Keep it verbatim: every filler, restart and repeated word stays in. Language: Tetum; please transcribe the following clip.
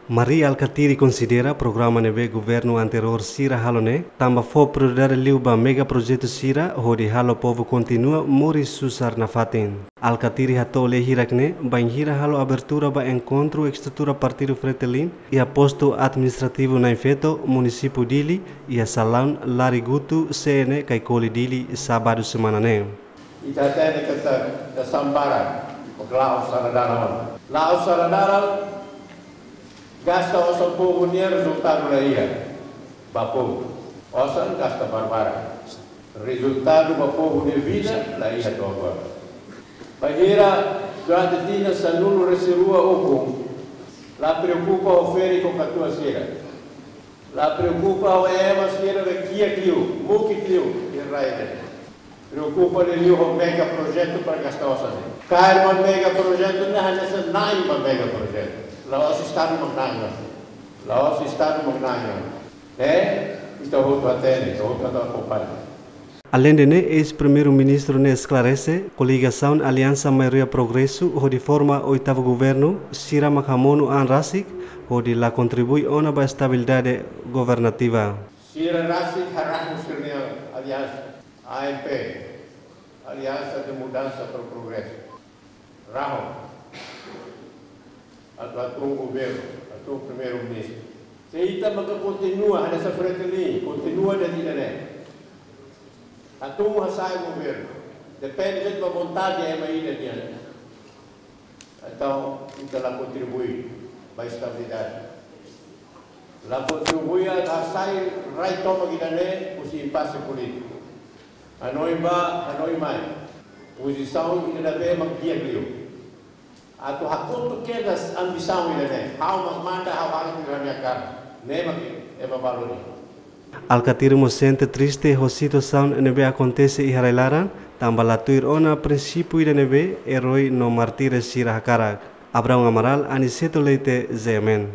Mari Alkatiri konsidera programa ne'ebé governu anteriór sira halo ne'e tanba fó prioridade liu ba megaprojetu sira hodi halo povu kontinua moris susar nafatin. Alkatiri hato'o lee hirak ne'e bainhira halo abertura ba enkontru estrutura Partidu Fretilin iha postu administrativu na'in-feto, munisípiu Dili, iha salaun Larigutu C N Kaikoli Dili, sábadu semana ne'e. Ita hatene katak ita sambara, la'o sala dalan. La'o sala dalan, gasta osan povu nian, rezultadu la iha ba povu. Osan gasta barbarak. Rezultadu ba povu nia vida la iha to'o agora. Bainhira durante tinan sanulu-resin-rua ukun, la preokupa ho ferik ho katuas sira. La preokupa ho ema sira be kiak liu, mukit liu, iha rai ne'e. Preokupa liuliu ho megaprojetu para gasta osan ne'e. Kaer ba megaprojetu ne'e hanesan na'in ba megaprojetu. La'ós Estadu mak na'in. La'ós Estadu mak na'in. Ne'e, ita hotu hatene, ita hotu akompaña. Aleinde ne'e, eis-primeiru-ministru ne'e esklarese, koligasaun Aliansa Maioria Progresu hodi forma oitavu governu, sira mak hamonu an rasik, hodi la kontribui ona ba estabilidade governativa. Sira rasik harahun sira-nia aliansa, A M P, Aliansa de Mudança para o Progresso. Rahun. Atu hatun governu, hatun primeiru-ministru. Se ita maka kontinua, hanesan Fretilin, kontinua de'it ida-ne'e. Hatun hasai governu. Depende de'it ba vontade ema ida nian. Entaun, ita la kontribui ba estabilidade. La kontribui atu hasai rai tomak ida-ne'e husi impase polítiku. Hanoin bá, hanoin mai. Pozisaun ida-ne'ebé mak di'ak liu. Atu hakotu kedas ambisaun ida-ne'e. Ha'u mak manda, ha'u halo tuir ha'u-nia hakarak. Ne'e mak ema balu dehan. Alkatiri mós sente triste ho situasaun ne'ebé akontese iha rai-laran, tanba la tuir ona prinsípiu ida ne'ebé eroi no mártires sira hakarak. Abraão Amaral, Aniceto Leite, Z M N.